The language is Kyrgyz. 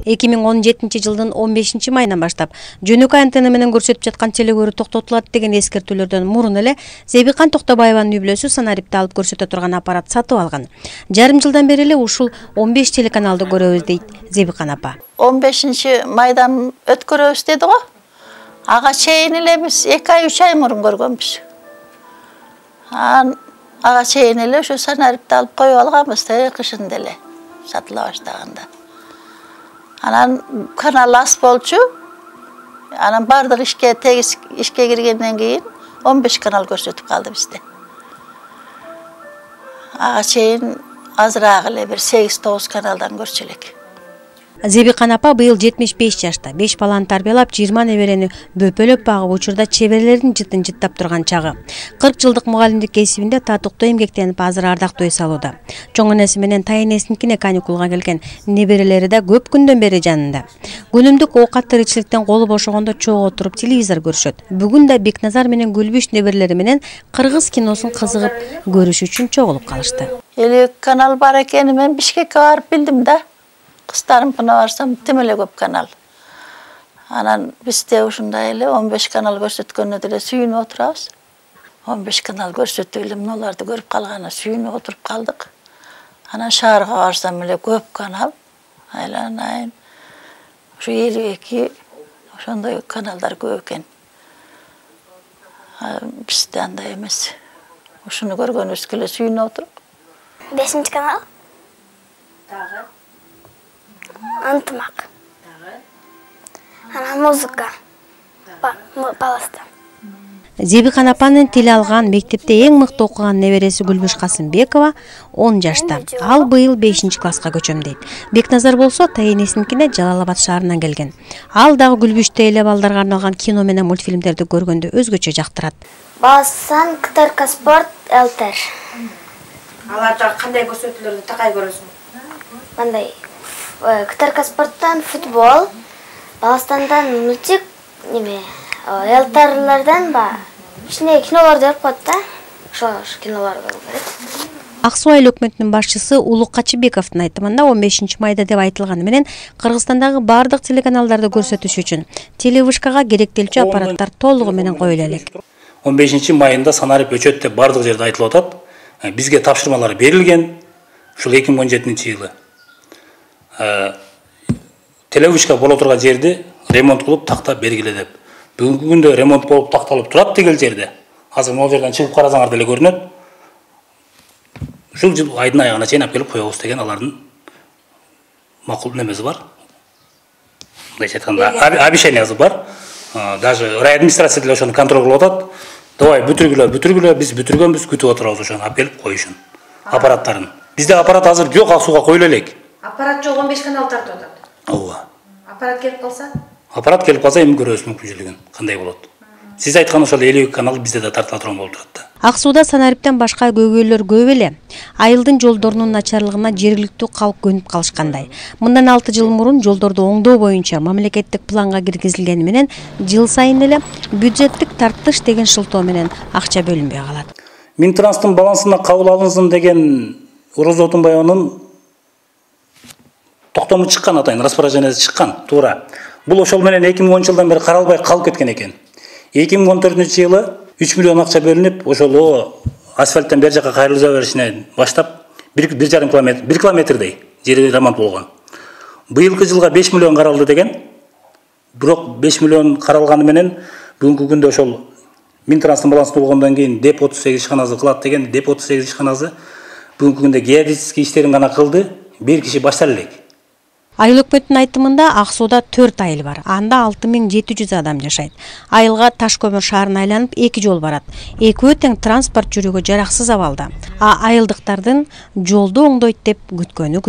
2017 жылдын 15 майынан баштап жөнөкөй антенна менен көрсөтүп жаткан телекөрүү токтотулат деген эскертүүлөрдөн мурун эле Зебикан Токтобаеванын үй-бүлөсү Санарипти алып көрсөтө турган аппарат сатып алган. Жарым жылдан бери эле ушул 15 телеканалды көрөбүз дейт Зебикан апа. 15 майдан өткөрөбүз деди го. Ага чейин эле биз 2 ай 3 ай мурун көргөнбүз. Ага чейин эле ушу Санарипти алып коюп алганбыз кышында эле сатыла баштаганда. Анан канал аз болчу. Анан бардык ишке киргенден кийин 15 канал көрсөтүп калды бизде. Ага чейин азыраак эле бир 8-9 каналдан көрчү элек. Зебикан апа быйыл 75 жашта, 5 баланы тарбиялап, 20 неберени бөпөлөп багып, учурда чеберлердин жытын жыттап турган чагы. 40 жылдык мугалимдик кесибинде татыктуу эмгектенип, азыр ардактуу эс алууда. Чоң энеси менен тайэнесиникине каникулга келген неберелери да көп күндөн бери жанында. Күнүмдүк оокат тиричиликтен колу бошогондо чогуу отуруп телевизор көрүшөт. Бүгүн да Бекназар менен Гүлбүш неберелери менен кыргыз киносун кызыгып көрүш үчүн чогулуп калышты. 50 канал бар экени мен Бишкекке барып билдим да. Кыздарымкына барсам тим эле көп канал. Анан бизде ушундай эле 15 канал көрсөткөнүнө деле сүйүнүп отурабыз. 15 канал көрсөтүп эле мыналарды көрүп калгана сүйүнүп отуруп калдык. Анан шаарга барсам эле көп канал. Айланайын. Ушу 52 ошондой каналдар көп экен. Бизде андай эмес. Ушуну көргөнүбүзгө эле сүйүнүп отуруп. 5 канал. Дагы. Антымак. Анан музыка. Баласта. Зебикан апанын тил алган, мектепте эң мыкты окуган небереси Гүлбүш Касымбекова 10 жашта. Ал быйыл 5-класска көчөм дейт. Бекназар болсо тайэнесиникине Жалал Абад шаарынан келген. Ал дагы Гүлбүштө эле балдарга арналган кино менен мультфильмдерди көргөндө өзгөчө жактырат. Баласан, КТРК спорт, ЛТР. Аларда кандай көрсөтүүлөрдү такай көрөсүң? Мындай КТРК спорттан футбол, Баластандан мультик, ЛТРлерден кичине кинолор деп коет да. Ошо кинолор көрөт. Ак Суу айыл өкмөтүнүн башчысы Улук Качыбековдун айтымында 15 майда деп айтылганы менен Кыргызстандагы бардык телеканалдарды көрсөтүш үчүн телевышкага керектелчү аппараттар толугу менен коюла элек. 15 майында Санарип өчөт деп бардык жерде айтылып атат. Бизге тапшырмалар берилген. Ушул 2017-жылы. Телевышка боло турган жерди ремонт кылып тактап бергиле деп. Бүгүнкү күндө ремонт болуп такталып турат деген жерде. Азыр могу жерден чыгып карасаңар деле көрүнөт. Ушул жыл айдын аягына чейин алып келип коебуз деген алардын макул немеси бар. Мындайча айтканда обещаниясы бар. Даже райадминистрация деле ошону контроль кылып атат. Давай бүтүргүлө, биз бүтүргөнбүз, күтүп отурабыз ошону алып келип коюшун. Аппараттарын. Бизде аппарат азыр жок, Ак Сууга коюла элек. Аппарат жок, 15 канал тартып атат. Ооба. Аппарат келип калса? Аппарат келип калса эми көрөбүз мүмкүнчүлүгүн кандай болот. Сиз айткан ошол 52 канал бизде да тартыла турган болуп турат да. Ак Сууда Санариптен башка көйгөйлөр көп эле. Айылдын жолдорунун начарлыгына жергиликтүү калк көнүп калышкандай. Мындан 6 жыл мурун жолдорду оңдоо боюнча мамлекеттик планга киргизилгени менен жыл сайын эле бюджеттик тарттыш деген шылтоо менен акча бөлүнбөй калат. Минтранстын балансына кабыл алынсын деген Орозо Отунбаеванын токтому чыккан, атайын распоряжениясы чыккан, туура. Бул ошол менен 2010-жылдан бери каралбай калып кеткен экен. 2014-жылы 3 миллион акча бөлүнүп, ошол асфальттан бер жака кайрылуу беришине баштап 1,5 километр, 1 километрдей жери ремонт болгон. Быйылкы жылга 5 миллион каралды деген. Бирок 5 миллион каралганы менен бүгүнкү күндө ошол Минтранстын балансында болгондон кийин ДЭП 38 ишканасы кылат деген, ДЭП 38 ишканасы бүгүнкү күндө геодезический иштерин гана кылды, бир киши баштар элек. Айыл өкмөтүнүн айтымында Ак Сууда 4 айыл бар. Анда 6700 адам жашайт. Айылга Таш көмүр шаарын айланып 2 жол барат. Экөө тең транспорт жүрүүгө жараксыз абалда. Айылдыктардын жолду оңдойт деп күткөнү.